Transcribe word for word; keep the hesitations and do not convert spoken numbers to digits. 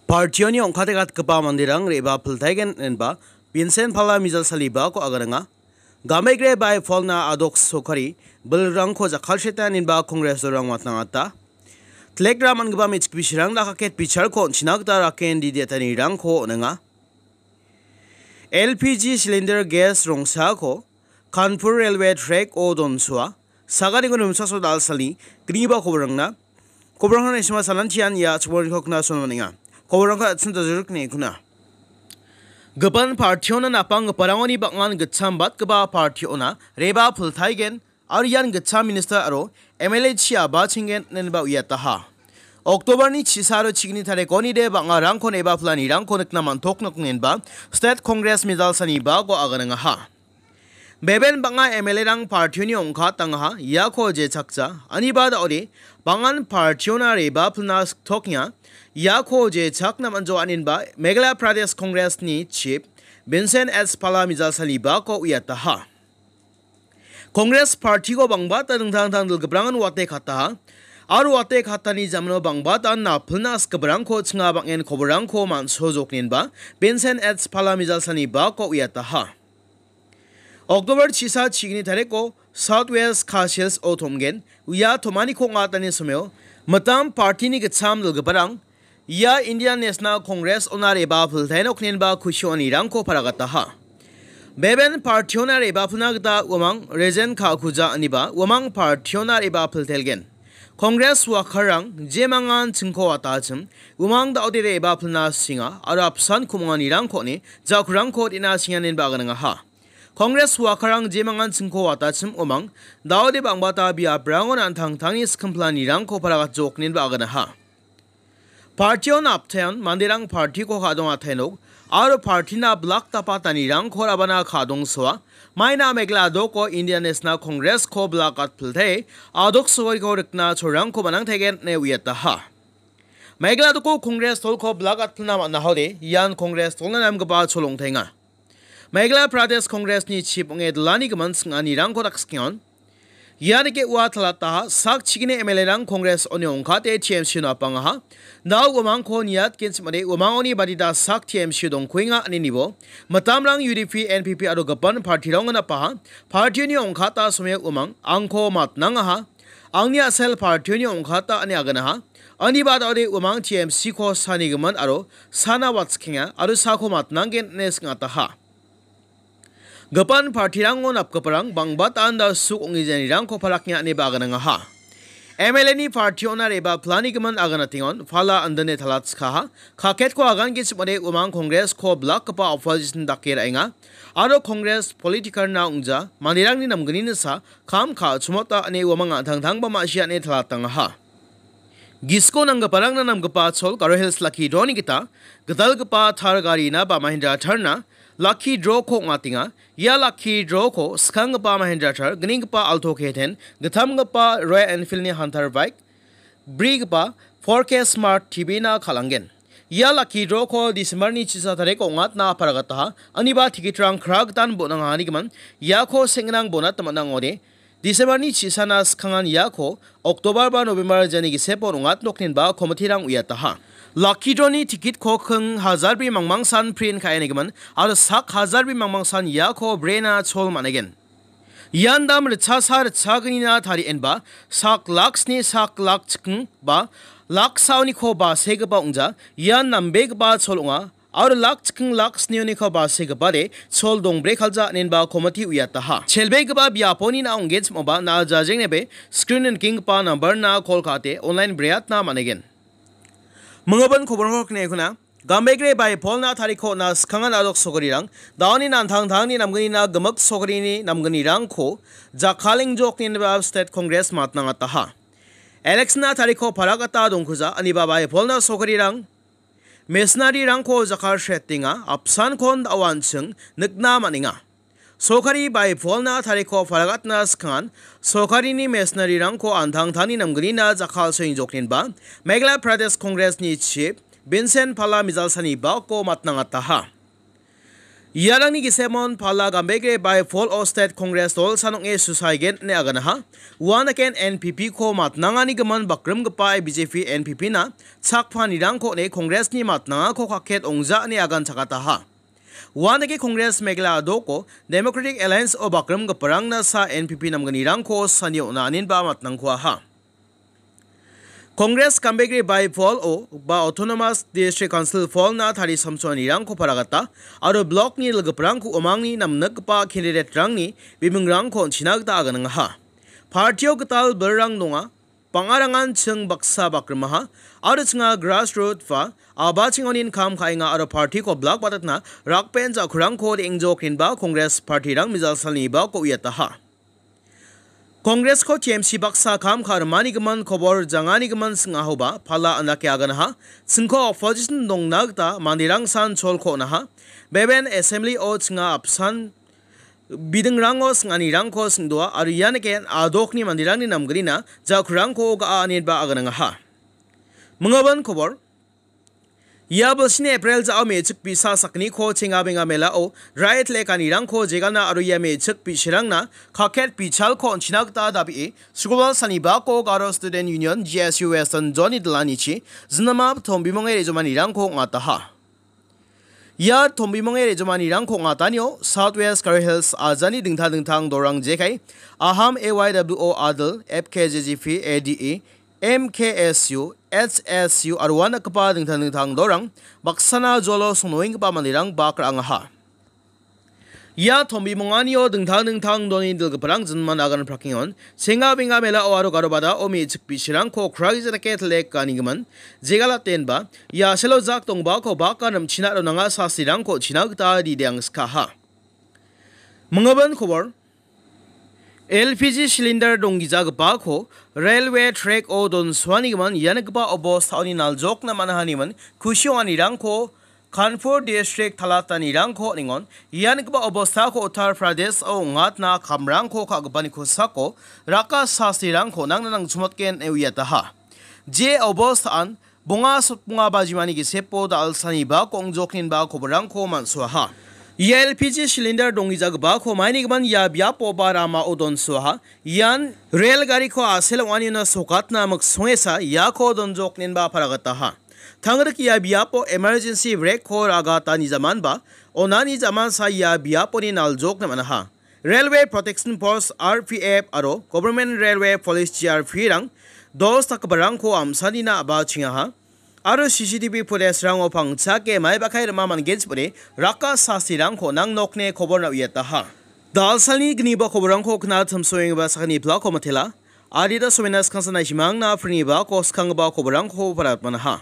Partioni ong·kate gatgipa manderang re·baa piltaigen inenba Vincent Pala Mijalsalibako aganenga. Gamegre bai polna adok sokari bilrangko jakkalseta inenba Kongresrang watnangata. Telegram man·gipa me·chik bisirang dakaket bicharko on·china gita raken didiatanirangko on·enga. L P G cylinder gas rongsako Kanpur railway track-o donsoa, saganiko nimsaso dal·sani gniba kobrangna. Kobrangna isima salantian ia chikmoriko knason maninga. Kobrangko atsun tajuruk ne kuna. Gipan partiona napanggiparangoni bang·an gitcham batgipa partiona reba pultaigen, aro ian gitcham minister aro M L A chi abachenggen inenba uiataha. Oktobarni chisa aro chigni tarikoni de bang·arangko neba planirangko nikna man·tok noknenba State Congress Mijalsanibako aganengaha. Beben bang·a M L A-rang partioni ong·katangaha, iako jechakja, aniba da·ode, bang·an partiona reba plna siktokenga, iako jechakna man·joa inenba Meghalaya Pradesh Congress-ni chief Vincent S Pala Mijalsalibako uiataha. Congress partiko bangbata dingtang dingtang dilgiprangan wate kataha, aro wate katani jamano bangbata napilna sikgiparangko chinga bang·en koborangko man·sojoknenba Vincent S Pala Mijalsalibako uiataha. Oktobar chisa chigni tariko South West Khasi Hills-o tom·gen, uia tom·aniko ong·atani someo mitam partini gitcham dilgiparang ia Indian National Congress-ona reba piltainoknenba kusionirangko paragataha. Beben partiona reba pilna gita uamang Rejen Kakuja aniba uamang partiona reba piltelgen. Congress wakarang jemangan chingko watachim uamang da·ode reba pilna singa aro apsan kumonganirangko on·e jakrangko dina singanenba aganangaha. Congress wakarang jemangan chingko watachim uamang da·ode bangbata biaprangon an·tangtangni skimplanirangko paragatjoknenba aganaha. Partiona aptaion manderang partiko ka·dong atainok aro partina blak dapatanirangko rabana ka·dongsoa, maina Meghalaya doko Indian National Congress-ko blak atpiltei adok sogariko rikna cholrangko manangtaigen ine uiataha. Meghalaya doko Congress dolko blak atpilna man·ahode ian Congress dolna namgipa chol ong·taenga. Meghalaya Pradesh Congress-ni chief ong·e dilani gimin sing·anirangko dakskion. Ia dake ua talataha sak chigni M L A-rang Congress-oni ong·kate T M C-o napangaha. Dao uamangko niatgenchim ade uamangoni badita sak T M C-o dongkuenga ine nibo. Mitamrang U D P, N P P aro gipan partirangona paha. Partioni ong·kata someo uamang angko matnangaha. Angni a·sel partioni ong·kata ine aganaha. Ani badao de uamang T M C-ko sanigimin aro sana watskienga aro sako matnanggen ine sing·ataha. Gipan partirango napgiparang bang·batan da·suk ong·e janirangko palakna ineba aganangaha. M L A-ni partiona reba planigimin aganatengon pala andane talatskaha. Kaketko agangenchim ade uamang Congress-ko blakgipa opposition dake ra·enga. Aro Congress politiker-na ong·ja manderangni namgnini sa kam ka·chimota ine uamang an·tangtangba ma·sia ine talatangaha. Gisiko nanggiparangna namgipa chol Garo Hills Lucky Draw-ni gita gitalgipa Thar garina ba Mahindra Thar-na Lucky Draw-ko ong·atenga. Ia Lucky Draw-ko skanggipa Mahindra Thar, gninggipa Alto K ten, gittamgipa Royal Enfield-ni Hunter bike, brigipa four K Smart T V-na kal·angen. Ia Lucky Draw-ko December-ni chisa tariko ong·atna aparagataha, aniba ticket-rang kragitan bon·angahanigimin iako seng·ginang bonat man·a ong·ode. December-ni chisana skangan iako October ba November jani gisepo ong·atnokninba committee-rang uiataha. Lucky Draw-ni ticket-ko king hajar bri mangmangsan print ka·enigimin aro sak hajar bri mangmangsan iako brena chol man·egen. Ian dam ritchasa ritchagnina tarienba sak lak sni sak lak chiking ba lak saoniko basegipa ong·ja. Ian nambegipa chol ong·a. Aro lak chiking lak snioniko basegipade chol dongbre kalja inenba committee uiataha. Chelbegipa biaponi na ong·genchimoba na jajengnebe screen-o nikenggipa number-na call ka·ate online breatna man·egen. Minggipa koborangko kine kuna. Gambegre bai polna tariko na skangan adok sogarirang, daoni nantangtangni namgnina gimik sogarini namgnirangko jakkalengjokni ineba State Congress matnangataha. Election-na tariko paragata dongkuja, aniba bai polna sogarirang, machinery-rangko jakkalsetenga, apsankon da·o an·ching nikna man·enga. Sorkari bai polna tariko paragatna skangan, sorkarini machinery-rangko an·tangtangni namgnina jakkalsoengjokninba, Meghalaya Pradesh Congress-ni chief Vincent Pala Mijalsanibako matnangataha. Iarangni gisemon pala Gambegre bai Fall of State Congress dolsa nong·e susagen ine aganaha. Uanaken N P P ko matnangani gimin bakrimgipa B J P N P P na chakpanirangko ne Congress ni matnangako kaket ongja ine agan chakataha. Uanake Congress megla adoko Democratic Alliance o bakrimgiparangna sa N P P namgnirangko sani on·a aninba matnangkuaha. Congress Gambegre bai Fall o ba Autonomous District Council Fall na tari samsoanirangko paragata aro block ni ilgiparangko umangni namnikgipa candidate rangni bimingrangko on·china gita aganangaha. Partio gital bilrang donga, bang·arangan ching baksa bakrimaha aro chinga grassroot ba aba chingonin kam ka·enga aro partiko block batatna rakben ja·kurangko re·engjok rinba Congress partirang mijalsalni bako uiataha. Congress-ko T M C baksa kam ka·rimani gimin kobor jangani gimin sing·ahoba pala andake aganaha. Singko opposition dongna gita manderang san cholko on·aha. Beben assembly-o chinga apsan bidingrango sing·anirangko sing·doa aro ianike adokni manderangni namgnina ja·kurangko ga·a aniba aganangaha. Mingabin kobor. Ia bilsini April ja·o me·chik bi·sa sakgniko chengabenga melao raitlekanirangko jegalna aro ia me·chik bi·sarangna kaket bichalko on·china gita dabie Sugobal Sanibako Garo Student Union, G S U, Western Zone-ni dilanichi jinama tombimonge rejomanirangko ong·ataha. Ia tombimonge rejomanirangko ong·atanio South West Garo Hills ajani dingtang dingtang dorang jekai Aham A Y W O Adil, F K J G P A D E, M K S U, H S U aro uanakgipa dingtang dingtang dorang baksana jolo songnoenggipa manderang bak ra·angaha. Ia tombimonganio dingtang dingtang doni dilgiparang jinman agan prakengon, senga benga melao aro garo badao me·chik bi·sarangko kraija dake telekanigimin, jegalatenba, ia selo jak dongbako baka rimchina aro nanga sasirangko china gita rideangskaha. Mingabin kobor. L P G cylinder donggijagipako railway track-o donsoanigimin ianigipa obostaoni naljokna man·ahanigimin kusi ong·anirangko Kanpur district talatanirangko ningon ianigipa obostako Uttar Pradesh-o ong·atna kamrangko ka·gipani kosako raka sasirangko nangna nangchimotgen ine uiataha. Je obostaan bonga sotbonga bajimani gisepo dal·sani ba kongjoknin ba koborangko man·soaha. Ia L P G cylinder donggijagipako mainigimin ia biapo ba ramao donsoaha. Ian rel gariko a·sel ong·anina sokatna miksongesa iako donjokninba paragataha. Tangrik ia biapo emergency brake-ko ragatani jamanba onani jamansa ia biaponi naljokna man·aha. Railway Protection Force, R P F, aro Government Railway Police, G R P-rang dos dakgiparangko amsanina a·bachengaha aro C C T V footage-rango pangchake maibakai rima man·genchipode raka sasirangko nang nokne koborna uiataha. Dalsalni gniba koborangko kna timsoenggipa sakgni plako matela. Adita somenas kangsa naishimangna prini bako skanggipa koborangko paratmanaha.